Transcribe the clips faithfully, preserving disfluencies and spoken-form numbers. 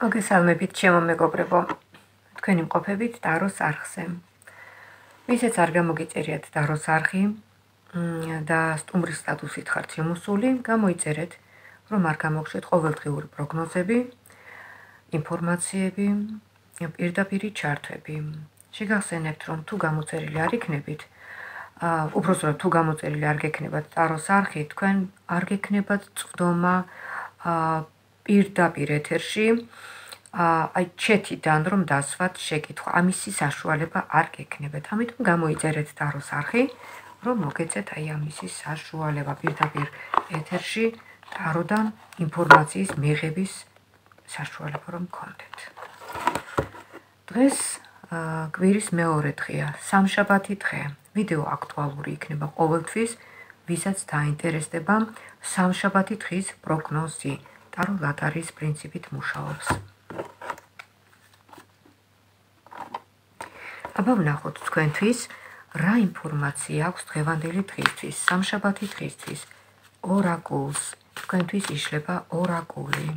მოგესალმებით, ჩემო მეგობრებო. თქვენი მყოფებით ტაროს არხზე. ვისაც არ გამოგიწერიათ ტაროს არხი და სტუმრის სტატუსით ხართ შემოსული, გამოიწერეთ, რომ არ გამოგშვეთ ყოველდღიური პროგნოზები, ინფორმაციები, პირდაპირი ჩართვები. შეგახსენებთ, რომ თუ გამოწერილი არ იქნებით, უпростоროდ თუ გამოწერილი არ გექნებათ ტაროს არხი, თქვენ არ გექნებათ წვდომა პირდაპირ ეთერში, აი ჩეთიდან რომ დასვათ შეკითხვა, ამისი საშუალება არ გექნებათ. ამიტომ გამოიწერეთ ტაროს არხი, რომ მოგეცეთ აი ამისი საშუალება პირდაპირ ეთერში ტაროდან ინფორმაციის მიღების საშუალება რომ გქონდეთ. დღეს კვირის მეორე დღეა, სამშაბათი დღე. ვიდეო აქტუალური იქნება ყოველთვის, ვისაც დაინტერესდება სამშაბათი დღის პროგნოზი. ტარო ლატარის პრინციპით მუშაობს. აბა ვნახოთ თქვენთვის რა ინფორმაცია აქვს დღევანდელი დღისთვის, სამშაბათი დღისთვის. ორაკულს, თქვენთვის იშლება ორაკული.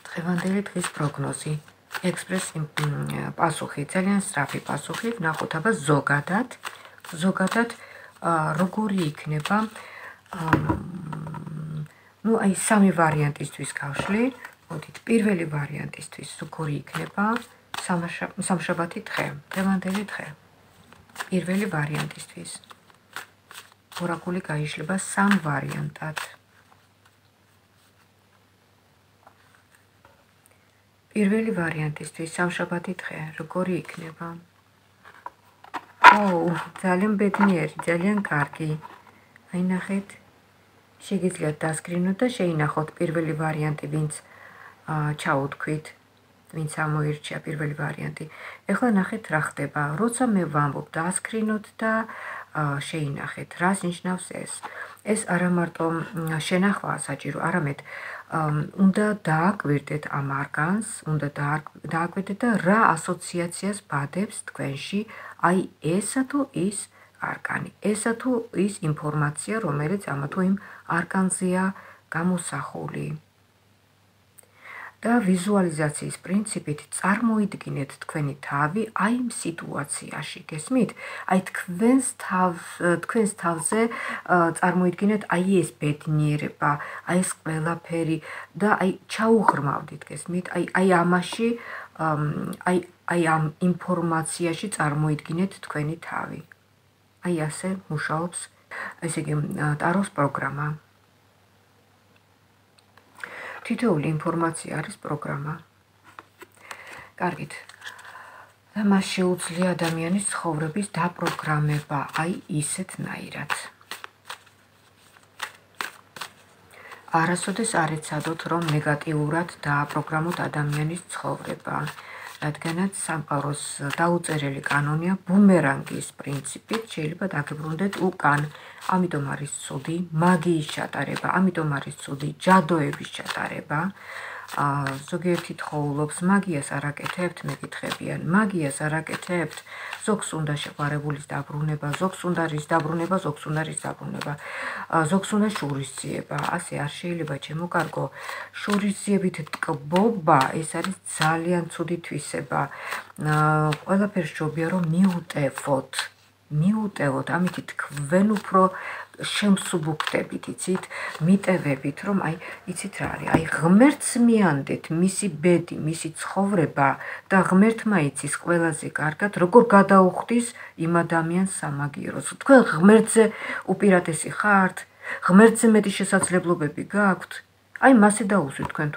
დღევანდელი დღის პროგნოზი, ექსპრეს პასუხი, ძალიან სწრაფი პასუხი, ვნახოთ აბა ზოგადად, ზოგადად როგორი იქნება, ну, აი სამი ვარიანტისთვის გავშლი. მოდით, პირველი ვარიანტისთვის როგორი იქნება სამშაბათი დღე, დღევანდელი დღე. პირველი ვარიანტისთვის. ორაკული გაიშლება სამ ვარიანტად. პირველი ვარიანტისთვის სამშაბათი დღე, როგორი იქნება? ოუ, ძალიან ბედნიერი, ძალიან კარგი. აი ნახეთ, შეგიძლიათ დასკრინოთ და შეინახოთ პირველი ვარიანტი, ვინც ჩაუთქვით, ვინც ამოირჩია პირველი ვარიანტი. ეხლა ნახეთ რა ხდება, როცა მე ვამბობ დასკრინოთ და შეინახეთ, რას ნიშნავს ეს. ეს არა მარტო შენახვაა საჭირო, არამედ უნდა დააკვირდეთ ამ არგანს, უნდა დააკვირდეთ და რა ასოციაციას ბადებს თქვენში, აი ესა თუ ის არგანი, ესა თუ ის ინფორმაცია, რომელიც ამა თუ იმ არგანზეა გამოსახული. და ვიზუალიზაციის პრინციპით წარმოიდგინეთ თქვენი თავი აი იმ სიტუაციაში, გესმით? აი თქვენს თავ თქვენს თავზე წარმოიდგინეთ აი ეს ბედნიერება, აი ეს ყველაფერი და აი ჩაუღრმავდით, გესმით? აი აი ამაში აი აი ამ ინფორმაციაში წარმოიდგინეთ თქვენი თავი. აი ასე მუშაობს, ესე იგი, ტაროს პროგრამა. თითოეული ინფორმაცია არის პროგრამა. კარგით. და მას შეუძლია ადამიანის ცხოვრების დაპროგრამება, აი ისეთნაირად. არასოდეს არ ეცადოთ, რომ ნეგატიურად დააპროგრამოთ ადამიანის ცხოვრება. რადგანაც სამყაროს დაუწერელი კანონია ბუმერანგის პრინციპით შეიძლება დაგებრუნდეთ უკან. ამიტომ არის ცუდი მაგიის ჩატარება, ამიტომ არის ცუდი ჯადოების ჩატარება. ზოგიერთი თხოვლობს მაგიას არ აკეთებთ, მეკითხებიან, მაგიას არ აკეთებთ, ზოგს უნდა შეყვარებულის დაბრუნება, ზოგს უნდა რის დაბრუნება, ზოგს უნდა რის დაბრუნება, ზოგს უნდა შურისძიება, ასე არ შეიძლება ჩემო კარგო. შურისძიებით ტკბობა ეს არის ძალიან ცუდი თვისება. ყველაფერს ჯობია რომ მიუტევოთ, მიუტევოთ, ამით თქვენ უფრო შემსუბუქდებით, იცით, მიტევებით, რომ აი, იცით რა არის, აი ღმერთს მიანდეთ მისი ბედი, მისი ცხოვრება და ღმერთმა იცის ყველაზე კარგად, როგორ გადაუხდის იმ ადამიანს სამაგიეროს. თქვენ ღმერთზე უპირატესი ხართ, ღმერთზე მეტი შესაძლებლობები გაქვთ. აი მასე დაუსვით თქვენ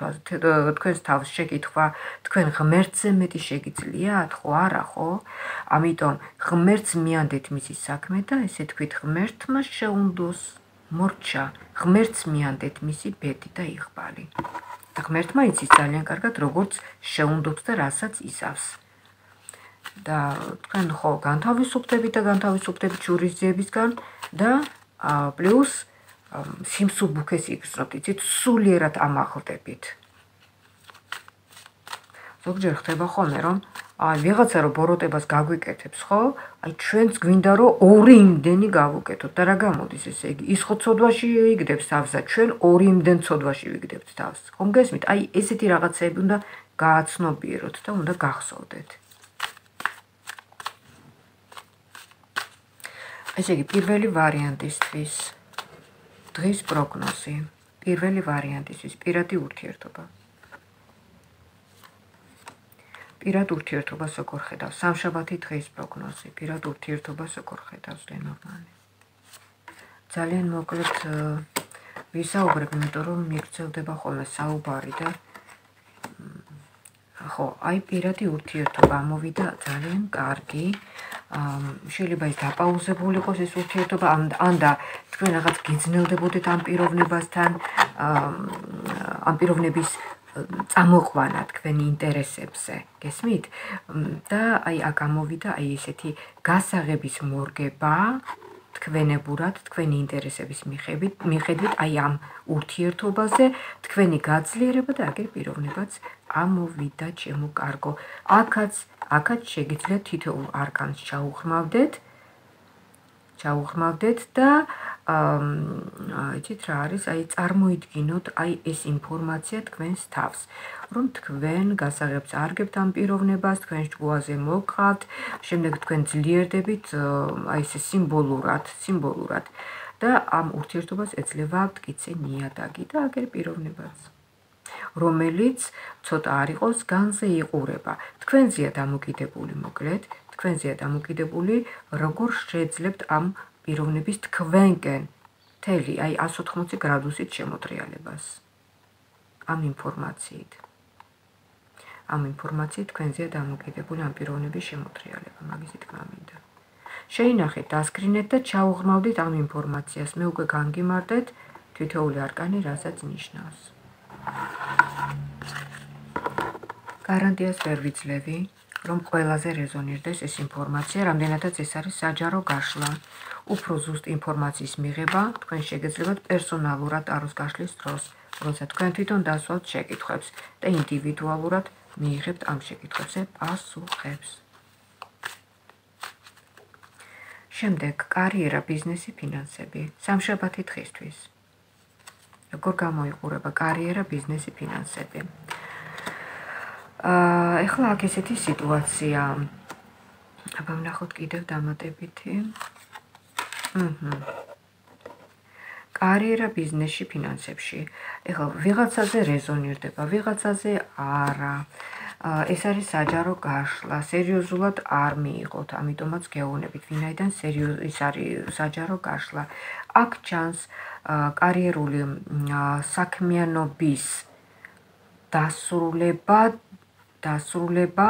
თქვენს თავს შეკითხვა, თქვენ ღმერთზე მეტი შეგიძლიათ, ხო არა, ხო? ამიტომ ღმერთს მიანდეთ მისი საქმე და ესე თქვით ღმერთმა შეუნდოს მორჩა, ღმერთს მიანდეთ მისი ბედი და იღბალი. და ღმერთმა იცის ძალიან კარგად, როგორც შეუნდობს და რასაც იზავს. და თქვენ ხო განთავისუფლდებით და განთავისუფლდებით შურისძიებისგან და პლუს სიმსუბუქეს იგრძნობთ, იცით, სულიერად ამაღლდებით. ზოგჯერ ხდება ხოლმე, რომ აი ვიღაცა რო ბოროტებას გაგვიკეთებს, ხო? აი ჩვენც გვინდა რომ ორი იმდენი გავუკეთოთ და რა გამოდის ესე იგი? ის ხო ცოდვაში იგდებს თავს და ჩვენ ორი იმდენ ცოდვაში ვიგდებთ თავს. ხომ გესმით? აი ესეთი რაღაცები უნდა გააცნობიეროთ და უნდა გახსოვდეთ. ესე იგი პირველი ვარიანტისთვის დღის პროგნოზი. პირველი ვარიანტისთვის პირადი ურთიერთობა. პირად ურთიერთობას როგორ ხედავს? სამშაბათი დღის პროგნოზი. პირად ურთიერთობას როგორ ხედავს ლენორმანი? ძალიან მოკლედ ვისაუბრებ, იმიტომ რომ მიგრძელდება ხოლმე საუბარი და ხო, აი პირადი ურთიერთობა ამოვიდა ძალიან კარგი. შეიძლება ის დაპაუზებული იყოს ეს ურთიერთობა, ან და თქვენ რაღაც გიძნელდებოდეთ ამ პიროვნებასთან, ამ პიროვნების წამოყვანა თქვენი ინტერესებზე, გესმით? და აი აქ ამოვიდა აი ესეთი გასაღების მორგება თქვენებურად, თქვენი ინტერესების მიხედვით, აი ამ ურთიერთობაზე, თქვენი გაძლიერება და აგერ პიროვნებაც ამოვიდა ჩემო კარგო. აქაც, აქაც შეგიძლიათ თითოეულ არკანს ჩაუღრმავდეთ, ჩაუღრმავდეთ და იცით რა არის, აი წარმოიდგინოთ აი ეს ინფორმაცია თქვენს თავს, რომ თქვენ გასაღებს არგებთ ამ პიროვნებას, თქვენ შუაზე მოგყავთ, შემდეგ თქვენ ძლიერდებით აი ეს სიმბოლურად, სიმბოლურად და ამ ურთიერთობას ეძლევა მტკიცე ნიადაგი და აგერ პიროვნებაც, რომელიც ცოტა არ იყოს განზე იყურება. თქვენზეა დამოკიდებული მოკლედ, თქვენზეა დამოკიდებული, როგორ შეძლებთ ამ პიროვნების თქვენკენ მთელი აი εκατს ოთხმოცი გრადუსით შემოტრიალებას. ამ ინფორმაციით. ამ ინფორმაციით თქვენზეა დამოკიდებული ამ პიროვნების შემოტრიალება, მაგისი თქმა მინდა. შეინახეთ, დასკრინეთ და ჩაუღრმავდით ამ ინფორმაციას. მე უკვე განგიმარდეთ თითოეული არკანი რასაც ნიშნავს. გარანტიას ვერ ვიძლევი, რომ ყველაზე რეზონირდეს ეს ინფორმაცია, რამდენადაც ეს არის საჯარო გაშლა. უფრო ზუსტ ინფორმაციის მიღება თქვენ შეგეძლებათ პერსონალურად ტაროს გაშლის დროს, როცა თქვენ თვითონ დასვათ შეკითხვებს და ინდივიდუალურად მიიღებთ ამ შეკითხვებზე პასუხებს. შემდეგ კარიერა, ბიზნესი, ფინანსები. სამშაბათი დღისთვის. როგორ გამოიყურება კარიერა, ბიზნესი, ფინანსები? ეხლა აქ ესეთი სიტუაცია. აბა ვნახოთ კიდევ დამატებითი. კარიერა, ბიზნესში, ფინანსებში. ეხლა ვიღაცაზე რეზონირდება, ვიღაცაზე არა. ეს არის საჯარო გაშლა, სერიოზულად არ მიიღოთ, ამიტომაც გეუბნებით, ვინაიდან ის არის საჯარო გაშლა. აქ ჩანს კარიერული საქმიანობის დასრულება, დასრულება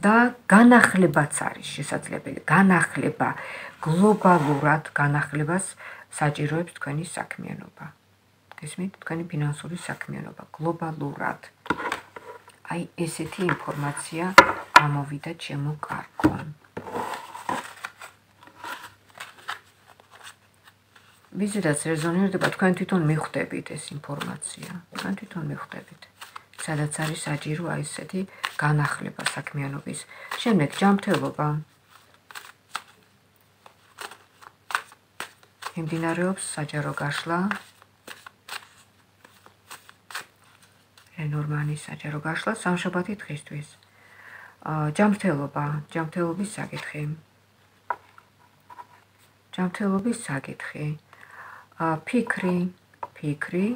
და განახლებაც არის შესაძლებელი. განახლება, გლობალურად განახლებას საჭიროებს თქვენი საქმიანობა. გესმით, თქვენი ფინანსური საქმიანობა გლობალურად. აი ესეთი ინფორმაცია ამოვიდა ჩემო კარგო. ვიზედაც რეზონირდება, თქვენ თვითონ მიხვდებით ეს ინფორმაცია. თქვენ თვითონ მიხვდებით. სადაც არის საჭირო აი ესეთი განახლება საქმიანობის. შემდეგ ჯანმრთელობა. მიმდინარეობს საჯარო გაშლა. ლენორმანის საჯარო გაშლა სამშაბათი დღისთვის. ჯანმრთელობა, ჯანმრთელობის საკითხი. ჯანმრთელობის საკითხი. ფიქრი, ფიქრი.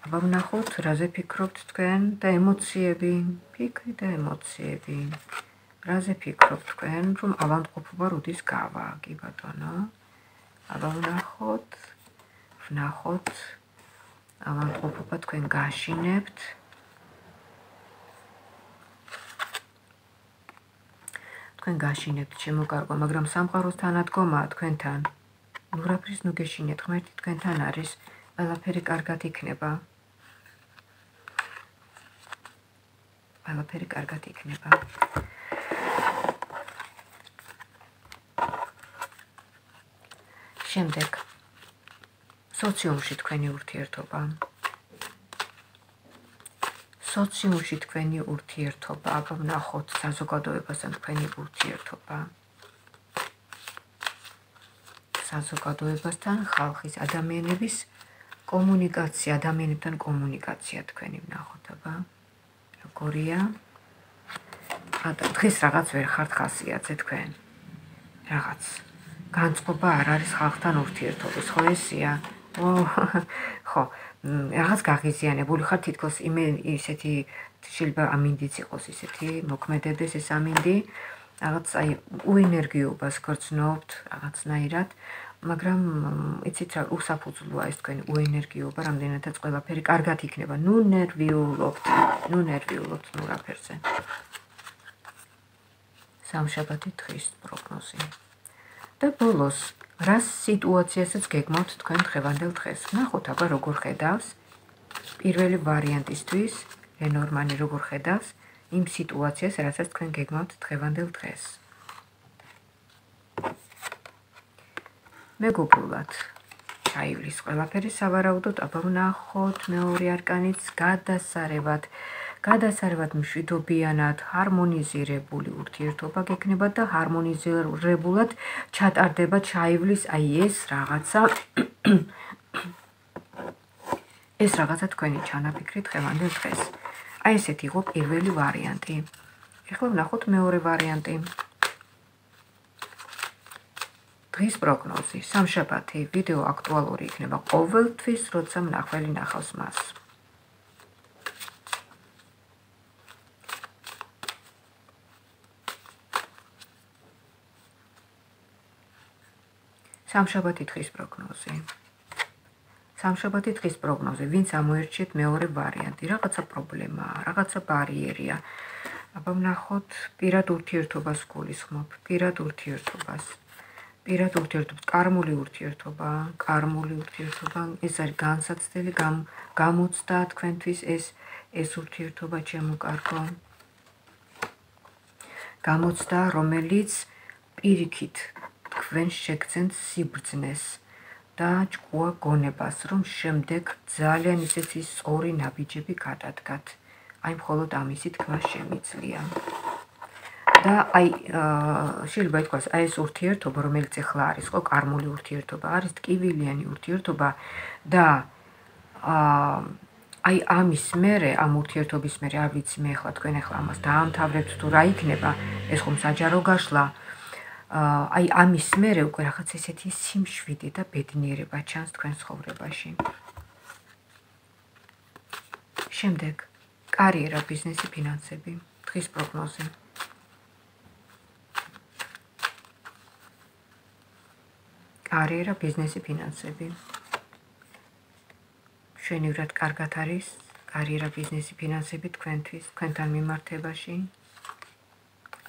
აბა ვნახოთ, რაზე ფიქრობთ თქვენ და ემოციები, ფიქრი და ემოციები. რაზე ფიქრობთ თქვენ, რომ ავადმყოფობა როდის გავა, კი ბატონო? აბა ვნახოთ, ვნახოთ, ავადმყოფობა თქვენ გაშინებთ. თქვენ გაშინებთ, ჩემო კარგო, მაგრამ სამყაროს თანადგომაა თქვენთან. ნურაფრის ნუ გეშინეთ, ღმერთი თქვენთან არის, ყველაფერი კარგად იქნება. ყველაფერი კარგად იქნება. შემდეგ სოციუმში თქვენი ურთიერთობა. სოციუმში თქვენი ურთიერთობა, აბა ვნახოთ საზოგადოებასთან თქვენი ურთიერთობა. საზოგადოებასთან, ხალხის, ადამიანების კომუნიკაცია, ადამიანებთან კომუნიკაცია თქვენი ვნახოთ, აბა. როგორია? დღეს რაღაც ვერ ხართ ხასიათზე თქვენ. რაღაც განწყობა არ არის ხალხთან ურთიერთობის, ხო ესია? ხო, რაღაც გაღიზიანებული ხარ თითქოს ისეთი შეიძლება ამინდიც იყოს ისეთი მოქმედებდეს ეს ამინდი, რაღაც აი უენერგიობას გრძნობთ რაღაცნაირად, მაგრამ იცით რა უსაფუძვლოა ეს თქვენი უენერგიობა, რამდენადაც ყველაფერი კარგად იქნება. ნუ ნერვიულობთ, ნუ ნერვიულობთ ნუ რაფერზე. სამშაბათი დღის პროგნოზი. და ბოლოს, რა სიტუაციასაც გეგმავთ თქვენ დღევანდელ დღეს? ნახოთ აბა როგორ ხედავს პირველი ვარიანტისთვის, ლენორმანი როგორ ხედავს იმ სიტუაციას, რასაც თქვენ გეგმავთ დღევანდელ დღეს. მეგობრულად, ჩაივლის ყველაფერი სავარაუდოდ, აბა ვნახოთ მეორე არკანიც გადასარევად. გადასარევად მშვიდობიანად, ჰარმონიზირებული ურთიერთობა გექნება და ჰარმონიზირებულად ჩატარდება ჩაივლის აი ეს რაღაცა ეს რაღაცა თქვენი ჩანაფიქრი დღევანდელ დღეს. აი ესეთი იყო პირველი ვარიანტი. ეხლა ვნახოთ მეორე ვარიანტი. დღის პროგნოზი, სამშაბათი, ვიდეო აქტუალური იქნება ყოველთვის, როცა მნახველი ნახავს მას. სამშაბათი დღის პროგნოზი. სამშაბათი დღის პროგნოზი, ვინც ამოერჩიეთ მეორე ვარიანტი, რაღაცა პრობლემაა, რაღაცა ბარიერია. აბა ვნახოთ პირად ურთიერთობას გულისხმობ, პირად ურთიერთობას. პირად ურთიერთობას, კარმული ურთიერთობა, კარმული ურთიერთობა, ეს არის განსაცდელი გამოცდა თქვენთვის ეს ეს ურთიერთობა ჩემო კარგო. გამოცდა, რომელიც პირიქით თქვენ შეგძენთ სიბრძნეს და ჭკუა გონებას, რომ შემდეგ ძალიან ისეთი სწორი ნაბიჯები გადადგათ. აი მხოლოდ ამისი თქმა შემიძლია. და აი შეიძლება ითქვას, აი ეს ურთიერთობა, რომელიც ახლა არის, ხო, კარმული ურთიერთობა, არის ტკივილიანი ურთიერთობა და აი ამის მერე, ამ ურთიერთობის მერე, არ ვიცი მე ახლა თქვენ ახლა ამას დაამთავრებთ თუ რა იქნება, ეს ხომ საჯარო გაშლა. აი ამის მერე უკვე რაღაც ესეთი სიმშვიდე და ბედნიერება ჩანს თქვენ ცხოვრებაში. შემდეგ, კარიერა, ბიზნესი, ფინანსები, დღის პროგნოზი. კარიერა, ბიზნესი, ფინანსები. მშვენივრად კარგად არის კარიერა, ბიზნესი, ფინანსები თქვენთვის, თქვენთან მიმართებაში.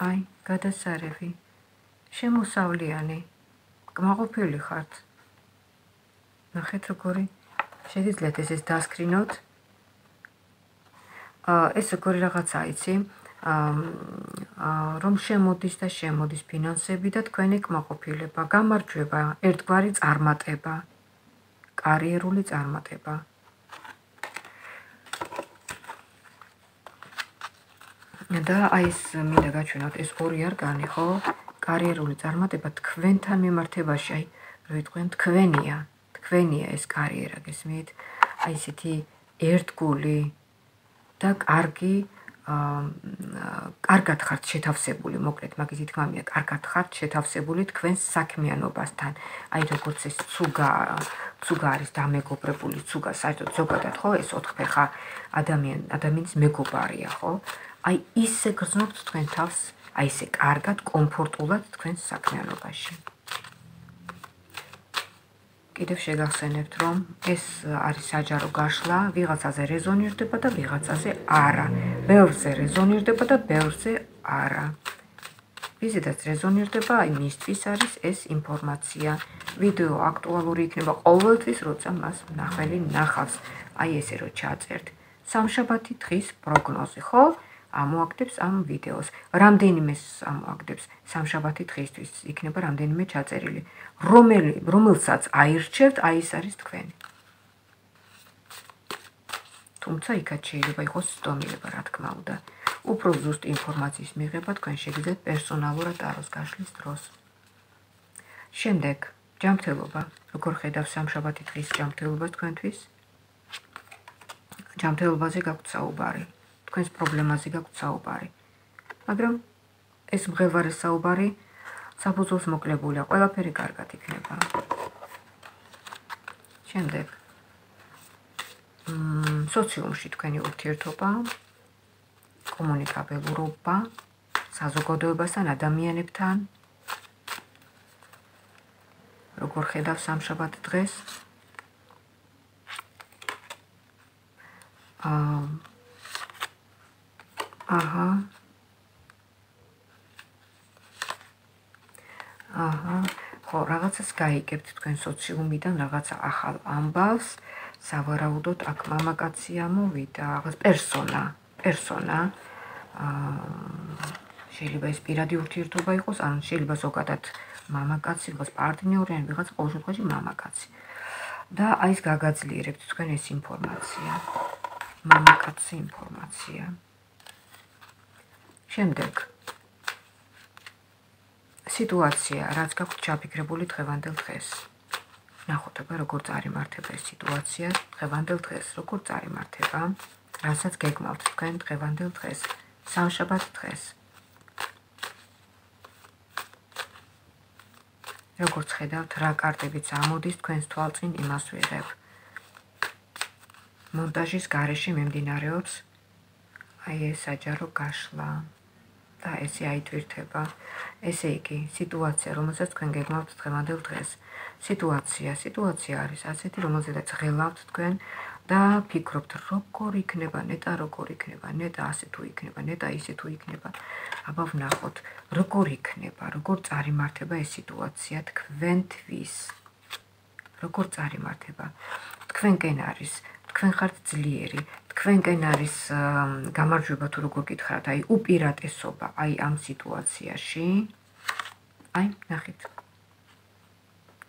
აი, გადასარევი. შემოსავლიანი, კმაყოფილი ხართ. ნახეთ როგორი, შეგიძლიათ ეს დასკრინოთ. ეს როგორი რაღაცა იცი, რომ შემოდის და შემოდის ფინანსები და თქვენი კმაყოფილება, გამარჯვება, ერთგვარი წარმატება, კარიერული წარმატება. და აი ეს მინდა გაჩვენოთ, ეს ორი არკანი, ხო? კარიერული წარმატება თქვენთან მიმართებაში, აი, რო იტყვიან თქვენია, თქვენია ეს კარიერა, გესმით? აი ესეთი ერთგული და კარგი, კარგად ხართ შეთავსებული, მოკლედ, მაგის თქმა მინდა, კარგად ხართ შეთავსებული თქვენს საქმიანობასთან. აი როგორც ეს ცუგა, ცუგა არის დამეგობრებული, ცუგა საერთოდ ზოგადად, ხო, ეს ოთხფეხა ადამიან, ადამიანის მეგობარია, ხო? აი ისე გრძნობთ თქვენ თავს, აი ესე კარგად, კომფორტულად თქვენს საქმიანობაში. კიდევ შეგახსენებთ, რომ ეს არის საჯარო გაშლა, ვიღაცაზე რეზონირდება და ვიღაცაზე არა. ბევრზე რეზონირდება და ბევრზე არა. ვიზედაც რეზონირდება, აი მისთვის არის ეს ინფორმაცია. ვიდეო აქტუალური იქნება ყოველთვის, როცა მას მნახველი ნახავს. აი ესე რო ჩაწერთ. სამშაბათი დღის პროგნოზი, ხო? ამოაგდებს ამ ვიდეოს. რამდენიმე ამოაგდებს სამშაბათი დღისთვის იქნება რამდენიმე ჩაწერილი. რომელი რომელსაც აირჩევთ, აი ეს არის თქვენი. თუმცა იქაც შეიძლება იყოს ცდომილება, რა თქმა უნდა. უფრო ზუსტ ინფორმაციის მიღება თქვენ შეგიძლიათ პერსონალურად ტაროს გაშლის დროს. შემდეგ, ჯანმრთელობა. როგორ ხედავ სამშაბათი დღის ჯანმრთელობას თქვენთვის? ჯანმრთელობაზე გაქვთ საუბარი, თქვენს პრობლემაზე გაქვთ საუბარი. მაგრამ ეს მღელვარე საუბარი საფუძველს მოკლებულია, ყველაფერი კარგად იქნება. შემდეგ, სოციუმში თქვენი ურთიერთობა, კომუნიკაბელურობა, საზოგადოებასთან, ადამიანებთან. როგორ ხედავ სამშაბათ დღეს? აჰა. აჰა. ხო, რაღაცას გაიგებთ თქვენ სოციუმიდან, რაღაცა ახალ ამბავს, სავარაუდოდ აქ მამაკაცია მოვიდა, რაღაც პერსონა, პერსონა. შეიძლება ეს პირადი ურთიერთობა იყოს, ან შეიძლება ზოგადად მამაკაცი, ვიღაც პარტნიორი, ან ვიღაც ყოველ შემთხვევაში მამაკაცი. და აი ეს გაგაძლიერებთ თქვენ ეს ინფორმაცია. მამაკაცი ინფორმაცია. შემდეგ სიტუაცია, რაც გაქვთ ჩაფიქრებული დღევანდელ დღეს. ნახოთ აბა როგორ წარიმართება ეს სიტუაცია დღევანდელ დღეს, როგორ წარიმართება, რასაც გეგმავთ თქვენ დღევანდელ დღეს, სამშაბათ დღეს. როგორც ხედავთ, რა კარტებიც ამოდის თქვენს თვალწინ, იმას ვიღებ. მონტაჟის გარეშე მიმდინარეობს აი ეს საჯარო გაშლა და ესე აითვირთება. ესე იგი, სიტუაცია, რომელსაც თქვენ გეგმავთ დღევანდელ დღეს. სიტუაცია, სიტუაცია არის ასეთი, რომელზედაც ღელავთ თქვენ და ფიქრობთ, როგორ იქნება, ნეტა როგორ იქნება, ნეტა ასე თუ იქნება, ნეტა ისე თუ იქნება. აბა ვნახოთ, როგორ იქნება, როგორ წარიმართება ეს სიტუაცია თქვენთვის. როგორ წარიმართება. თქვენკენ არის, თქვენ ხართ ძლიერი, თქვენკენ არის გამარჯვება თუ როგორ გითხრათ, აი უპირატესობა, აი ამ სიტუაციაში. აი, ნახეთ.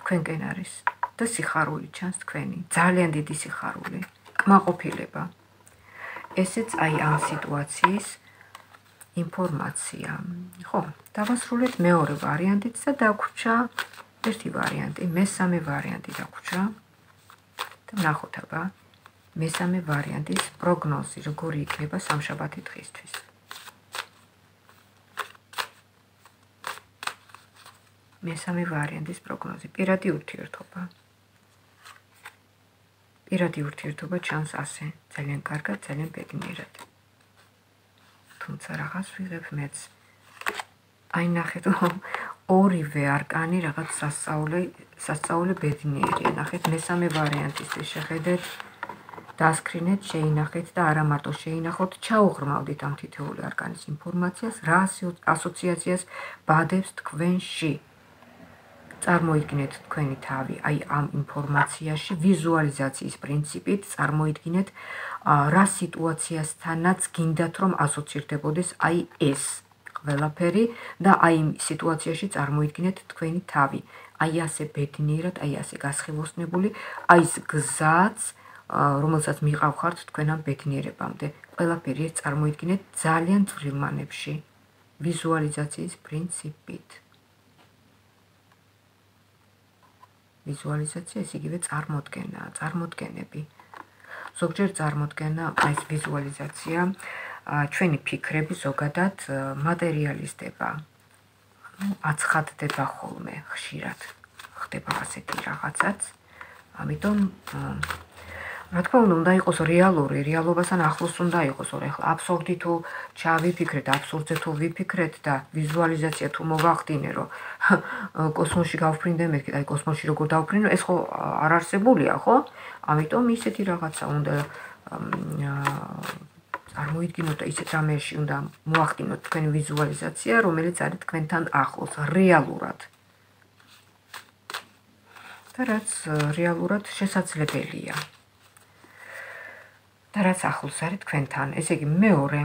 თქვენკენ არის და სიხარული ჩანს თქვენი, ძალიან დიდი სიხარული, კმაყოფილება. ესეც აი ამ სიტუაციის ინფორმაცია. ხო, დავასრულეთ მეორე ვარიანტით და დაგვრჩა ერთი ვარიანტი, მესამე ვარიანტი დაგვრჩა. და ნახოთ აბა, მესამე ვარიანტის პროგნოზი, როგორი იქნება სამშაბათი დღისთვის. მესამე ვარიანტის პროგნოზი, პირადი ურთიერთობა. პირადი ურთიერთობა ჩანს ასე, ძალიან კარგად, ძალიან ბედნიერად. თუმცა რაღაც ვიღებ მეც. აი ნახეთ, ორივე არკანი რაღაც სასწაული, სასწაული ბედნიერია. ნახეთ, მესამე ვარიანტისთვის შეხედეთ, დასკრინეთ, შეინახეთ და არა მარტო შეინახოთ, ჩაუღრმავდით ამ თითოეული არკანის ინფორმაციას, რა ასოციაციას ბადებს თქვენში. წარმოიდგინეთ თქვენი თავი, აი ამ ინფორმაციაში, ვიზუალიზაციის პრინციპით წარმოიდგინეთ, რა სიტუაციასთანაც გინდათ რომ ასოცირდებოდეს აი ეს ყველაფერი და აი იმ სიტუაციაში წარმოიდგინეთ თქვენი თავი. აი ასე ბედნიერად, აი ასე გასხივოსნებული, აი ეს გზაც, რომელსაც მიყავხართ თქვენ ამ ბედნიერებამდე. ყველაფერი ეს წარმოიდგინეთ ძალიან წვრილ მანებში, ვიზუალიზაციის პრინციპით. ვიზუალიზაცია ეს იგივე წარმოდგენაა, წარმოდგენები. ზოგჯერ წარმოდგენა, ეს ვიზუალიზაცია, ჩვენი ფიქრები ზოგადად მატერიალიზდება, აცხადდება ხოლმე ხშირად, ხდება ასეთი რაღაცაც. ამიტომ რა თქმა უნდა, უნდა იყოს რეალური, რეალობასთან ახლოს უნდა იყოს, ეხლა აბსურდი თუ ჩავიფიქრეთ, აბსურდზე თუ ვიფიქრეთ და ვიზუალიზაცია თუ მოვახდინე, რომ კოსმოსში გავფრინდე მეთქი, აი კოსმოსში როგორ დავფრინო, ეს ხო არ არსებულია, ხო? ამიტომ ისეთი რაღაცა უნდა წარმოიდგინოთ და ისეთ რამეში უნდა მოახდინოთ თქვენი ვიზუალიზაცია, რომელიც არის თქვენთან ახლოს, რეალურად. და რაც რეალურად შესაძლებელია. და რაც ახლოს არის თქვენთან, ესე იგი მეორე,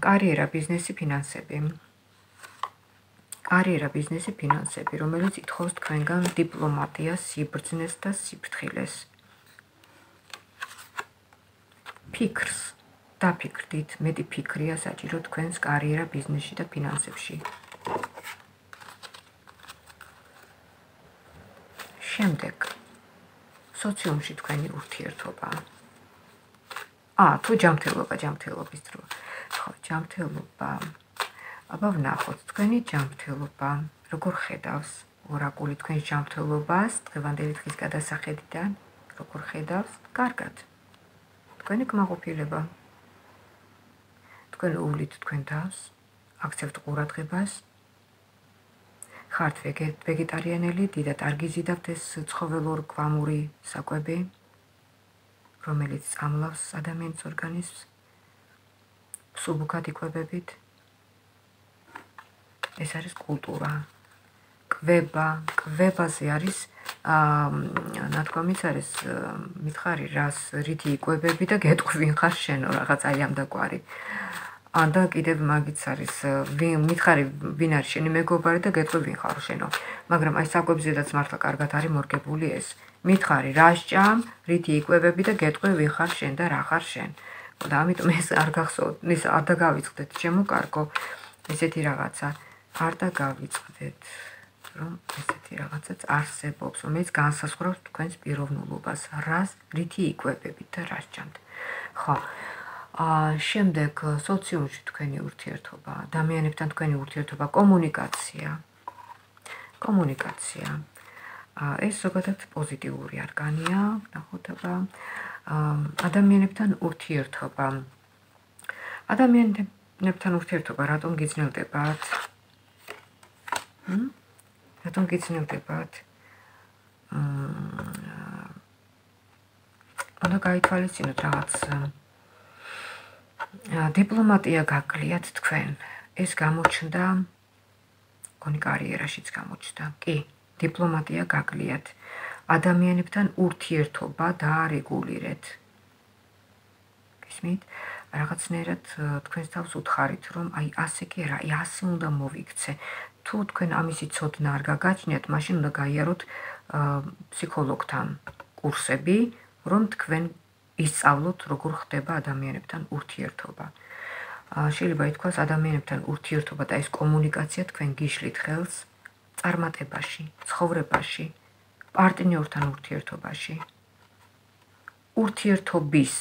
კარიერა, ბიზნესი, ფინანსები. კარიერა, ბიზნესი, ფინანსები, რომელიც ითხოვს თქვენგან დიპლომატიას, სიბრძნეს და სიფრთხილეს. ფიქრს დაფიქრდით, მეტი ფიქრია საჭირო თქვენს კარიერა, ბიზნესში და ფინანსებში. შემდეგ სოციუმში თქვენი ურთიერთობა. აა, თუ ჯანმრთელობა, ჯანმრთელობის დრო. ხო, ჯანმრთელობა. აბა ვნახოთ, თქვენი ჯანმრთელობა, როგორ ხედავს ორაკული თქვენ ჯანმრთელობას დღევანდელი დღის გადასახედიდან, როგორ ხედავს? კარგად. თქვენი კმაყოფილება. თქვენ უვლით თქვენ თავს, აქცევთ ყურადღებას. ხართ ვეგეტარიანელი, დიდად არ გიზიდავთ ეს ცხოველურ-კვამური საკვები, რომელიც წამლავს ადამიანის ორგანიზმს. სუბუქად იკვებებით. ეს არის კულტურა. კვება, კვებაზე არის ნათქვამიც არის მითხარი რას რითი იკვებები და გეტყვი ვინ ხარ შენო რაღაც აი ამ დაკვარი. და კიდევ მაგიც არის მითხარი ვინ არის შენი მეგობარი და გეტყვი ვინ ხარ შენო. მაგრამ აი საკვებზედაც მართლა კარგად არის მორგებული ეს. მითხარი რა სჭამ, რითი იკვებები და გეტყვი ვინ ხარ შენ და რა ხარ შენ. და ამიტომ ეს არ გახსოვთ, ის არ დაგავიწყდეთ ჩემო კარგო. ესეთი რაღაცა არ დაგავიწყდეთ, რომ ესეთი რაღაცაც არსებობს, რომელიც განსაზღვრავს თქვენს პიროვნულობას, რას რითი იკვებებით და რა სჭამთ. ხო. აა შემდეგ სოციუმში თქვენი ურთიერთობა, ადამიანებთან თქვენი ურთიერთობა, კომუნიკაცია. კომუნიკაცია. აა ეს ზოგადად პოზიტიური არგანია, ნახოთება. აა ადამიანებთან ურთიერთობა. ადამიანებთან ურთიერთობა რატომ გიძნელდებათ? მ? რატომ გიძნელდებათ? აა უნდა გაითვალისწინოთ რაღაც დიპლომატია გაკლიათ თქვენ. ეს გამოჩნდა გონი კარიერაშიც გამოჩნდა. კი, დიპლომატია გაკლიათ. ადამიანებთან ურთიერთობა დაარეგულირეთ. გისმით? რაღაცნაირად თქვენს თავს უთხარით, რომ აი ასე კი არა, აი ასე უნდა მოვიქცე. თუ თქვენ ამისი ცოდნა არ გაგაჩნიათ, მაშინ უნდა გაიაროთ ფსიქოლოგთან კურსები, რომ თქვენ ისწავლოთ, როგორ ხდება ადამიანებთან ურთიერთობა. შეიძლება ითქვას, ადამიანებთან ურთიერთობა და ეს კომუნიკაცია თქვენ გიშლით ხელს წარმატებაში, ცხოვრებაში, პარტნიორთან ურთიერთობაში. ურთიერთობის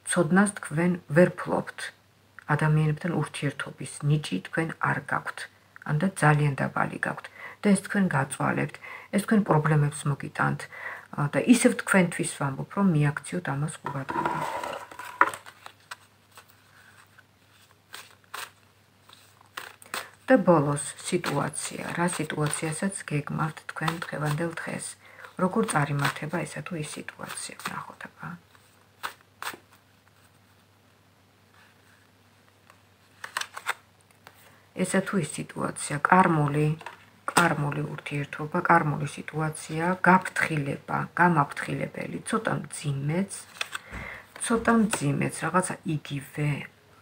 ცოდნას თქვენ ვერ ფლობთ. ადამიანებთან ურთიერთობის ნიჭი თქვენ არ გაქვთ. ანდა ძალიან დაბალი გაქვთ და ეს თქვენ გაწვალებთ, ეს თქვენ პრობლემებს მოგიტანთ და ისევ თქვენთვის ვამბობ, რომ მიაქციოთ ამას ყურადღება. და ბოლოს სიტუაცია, რა სიტუაციასაც გეგმავთ თქვენ დღევანდელ დღეს, როგორ წარიმართება ესა თუ ის სიტუაცია, ნახოთ აბა. ესა თუ ის სიტუაცია, კარმული, კარმული ურთიერთობა, კარმული სიტუაცია, გაფრთხილება, გამაფრთხილებელი, ცოტა მძიმეც, ცოტა მძიმეც, რაღაცა იგივე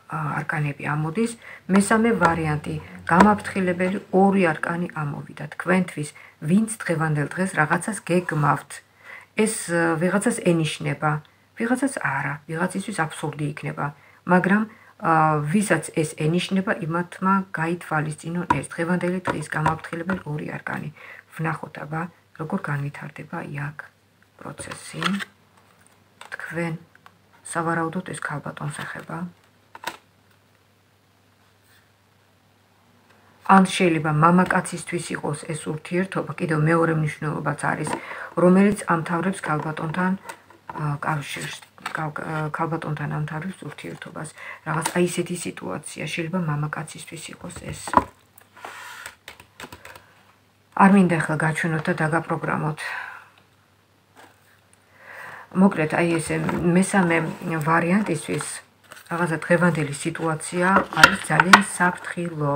არკანები ამოდის, მესამე ვარიანტი, გამაფრთხილებელი ორი არკანი ამოვიდა თქვენთვის, ვინც დღევანდელ დღეს რაღაცას გეგმავთ. ეს ვიღაცას ენიშნება, ვიღაცას არა, ვიღაცისთვის აბსურდი იქნება, მაგრამ ვისაც ეს ენიშნება, იმათმა გაითვალისწინონ ეს დღევანდელი დღის გამაფრთხილებელი ორი არკანი. ვნახოთ აბა, როგორ განვითარდება იქ პროცესი. თქვენ სავარაუდოდ ეს ქალბატონს ეხება. ან შეიძლება მამაკაცისთვის იყოს ეს ურთიერთობა, კიდევ მეორე მნიშვნელობაც არის, რომელიც ამთავრებს ქალბატონთან კავშირს, ქალბატონთან ამთავრებს ურთიერთობას. რაღაც აი ესეთი სიტუაცია, შეიძლება მამაკაცისთვის იყოს ეს. არ მინდა ახლა გაჩვენოთ და დაგაპროგრამოთ. მოკლედ, აი ესე მესამე ვარიანტისთვის რაღაცა დღევანდელი სიტუაცია არის ძალიან საფრთხილო.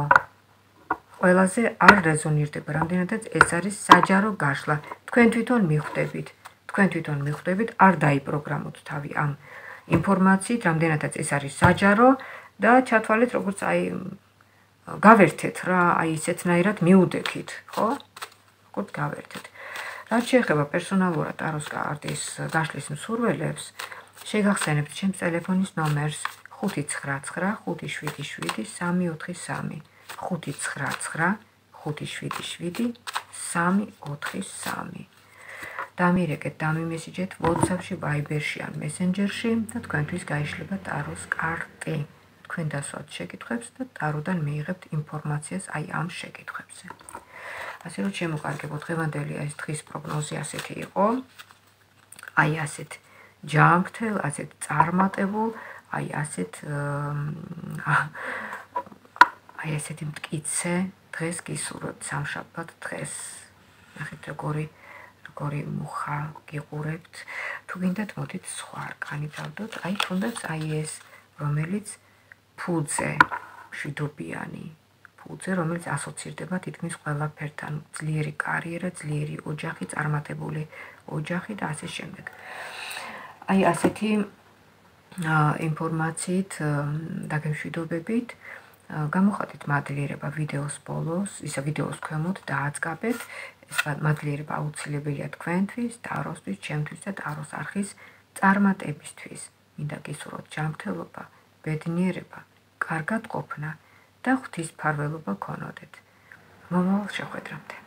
ყველაზე არ რეზონირდება, რამდენადაც ეს არის საჯარო გაშლა. თქვენ თვითონ მიხვდებით, თქვენ თვითონ მიხვდებით, არ დაიპროგრამოთ თავი ამ ინფორმაციით, რამდენადაც ეს არის საჯარო და ჩათვალეთ, როგორც აი გავერთეთ რა, აი ისეთნაირად მიუდექით, ხო? როგორც გავერთეთ. რაც შეეხება პერსონალურად ტაროს კარტის გაშლის მსურველებს, შეგახსენებთ ჩემს ტელეფონის ნომერს ხუთი ცხრა ცხრა ხუთი შვიდი შვიდი სამი ოთხი სამი ხუთი ცხრა ცხრა ხუთი შვიდი შვიდი სამი ოთხი სამი. დამირეკეთ, დამიმესიჯეთ WhatsApp-ში, Viber-ში ან Messenger-ში და თქვენთვის გაიშლება ტაროს კარტი. თქვენ დასვათ შეკითხვებს და ტაროდან მიიღებთ ინფორმაციას აი ამ შეკითხვებზე. ასე რომ შემოყარგებო, დღევანდელი ეს დღის პროგნოზი ასეთი იყო. აი ასეთ ჯანმრთელ, ასეთ წარმატებულ, აი ასეთ აი ასეთი მტკიცე დღეს გისურვებთ სამშაბათ დღეს. ნახეთ როგორი როგორი მუხა გიყურებთ. თუ გინდათ მოდით სხვა არკანი დავდოთ. აი თუნდაც აი ეს რომელიც ფუძე, მშვიდობიანი ფუძე, რომელიც ასოცირდება თითქმის ყველაფერთან, ძლიერი კარიერა, ძლიერი ოჯახი, წარმატებული ოჯახი და ასე შემდეგ. აი ასეთი ინფორმაციით დაგემშვიდობებით, გამოხატეთ მადლიერება ვიდეოს ბოლოს, ისა ვიდეოს ქვემოთ დააწყაბეთ. ეს მადლიერება აუცილებელია თქვენთვის, ტაროსთვის, ჩემთვის და ტაროს არხის წარმატებისთვის. მინდა გისურვოთ ჯანმრთელობა, ბედნიერება, კარგად ყოფნა და ღვთისმფარველობა გქონოდეთ. მომავალ შეხვედრამდე.